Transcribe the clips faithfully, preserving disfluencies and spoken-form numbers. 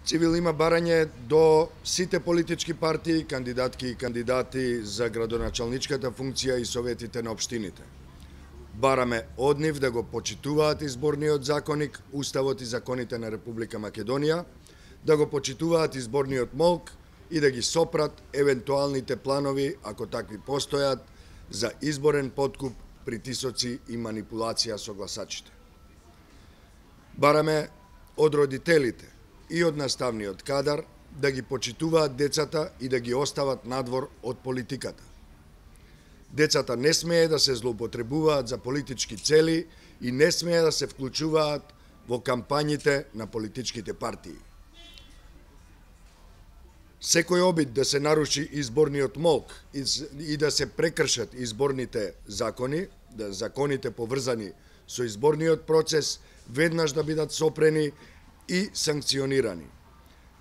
Цивил има барање до сите политички партии, кандидатки и кандидати за градоначалничката функција и советите на општините. Бараме од нив да го почитуваат изборниот законник, уставот и законите на Република Македонија, да го почитуваат изборниот молк и да ги сопрат евентуалните планови, ако такви постојат, за изборен подкуп, притисоци и манипулација со гласачите. Бараме од родителите и од наставниот кадар да ги почитуваат децата и да ги остават надвор од политиката. Децата не смее да се злоупотребуваат за политички цели и не смее да се вклучуваат во кампањите на политичките партии. Секој обид да се наруши изборниот молк и да се прекршат изборните закони, да законите поврзани со изборниот процес, веднаш да бидат сопрени и санкционирани.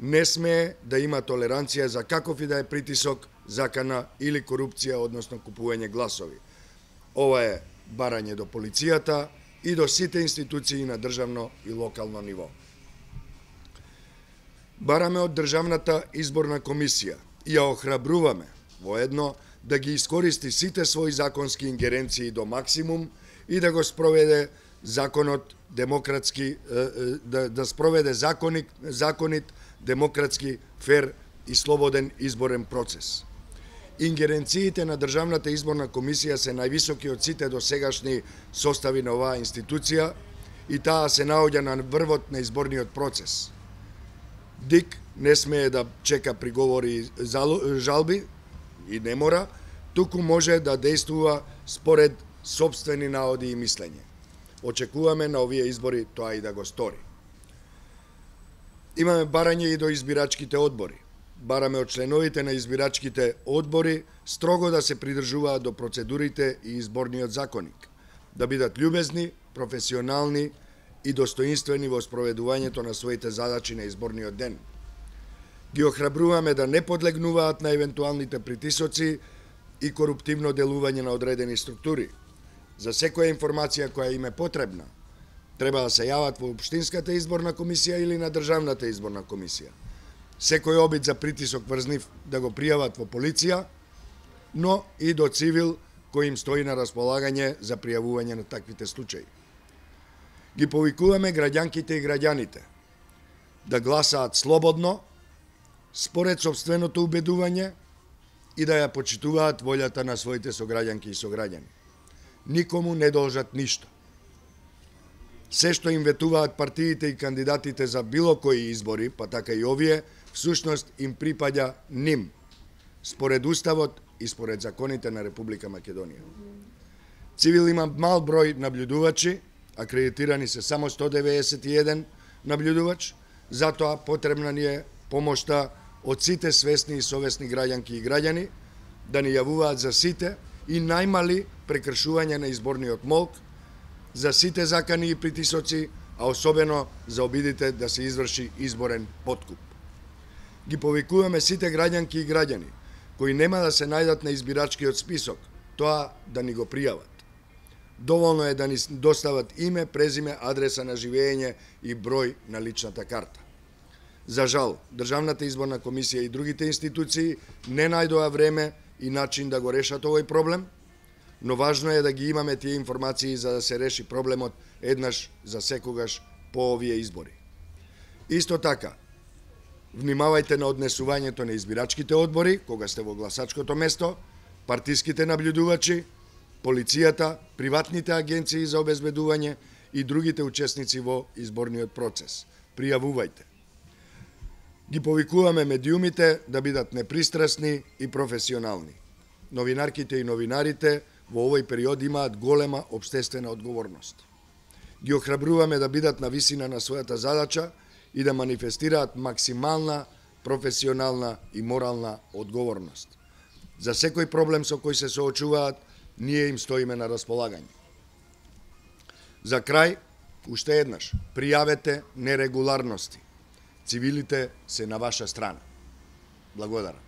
Не смее да има толеранција за каков и да е притисок, закана или корупција, односно купување гласови. Ова е барање до полицијата и до сите институции на државно и локално ниво. Бараме од Државната изборна комисија и ја охрабруваме воедно да ги искористи сите своји законски ингеренции до максимум и да го спроведе законот демократски, да, да спроведе законик, законит, демократски, фер и слободен изборен процес. Ингеренциите на Државната изборна комисија се највисоки од сите досегашни состави на оваа институција и таа се наоѓа на врвот на изборниот процес. ДИК не смее да чека приговори и жалби и не мора, туку може да действува според сопствени наоди и мислење. Очекуваме на овие избори тоа и да го стори. Имаме барање и до избирачките одбори. Бараме од членовите на избирачките одбори строго да се придржуваат до процедурите и изборниот законник, да бидат љубезни, професионални и достоинствени во спроведувањето на своите задачи на изборниот ден. Ги охрабруваме да не подлегнуваат на евентуалните притисоци и коруптивно делување на одредени структури. За секоја информација која им е потребна, треба да се јават во Општинската изборна комисија или на Државната изборна комисија. Секој обид за притисок врз нив да го пријават во полиција, но и до цивил кој им стои на располагање за пријавување на таквите случаи. Ги повикуваме граѓанките и граѓаните да гласаат слободно, според сопственото убедување и да ја почитуваат волјата на своите сограѓанки и сограѓани. Никому не должат ништо. Се што им ветуваат партиите и кандидатите за било кои избори, па така и овие, всушност им припаѓа ним, според Уставот и според законите на Република Македонија. Цивил има мал број наблюдувачи, акредитирани се само сто деветдесет и еден наблюдувач, затоа потребна ни е помошта од сите свесни и совесни граѓанки и граѓани да ни јавуваат за сите и најмали прекршување на изборниот молк, за сите закани и притисоци, а особено за обидите да се изврши изборен подкуп. Ги повикуваме сите граѓанки и граѓани кои нема да се најдат на избирачкиот список, тоа да ни го пријават. Доволно е да ни достават име, презиме, адреса на живење и број на личната карта. За жал, Државната изборна комисија и другите институции не најдоа време и начин да го решат овој проблем, но важно е да ги имаме тие информации за да се реши проблемот еднаш за секогаш по овие избори. Исто така, внимавајте на однесувањето на избирачките одбори, кога сте во гласачкото место, партиските наблюдувачи, полицијата, приватните агенции за обезбедување и другите учесници во изборниот процес. Пријавувајте. Ги повикуваме медиумите да бидат непристрасни и професионални. Новинарките и новинарите во овој период имаат голема општествена одговорност. Ги охрабруваме да бидат на висина на својата задача и да манифестираат максимална професионална и морална одговорност. За секој проблем со кој се соочуваат, ние им стоиме на располагање. За крај, уште еднаш, пријавете нерегуларности. Цивилите се на ваша страна. Благодарам.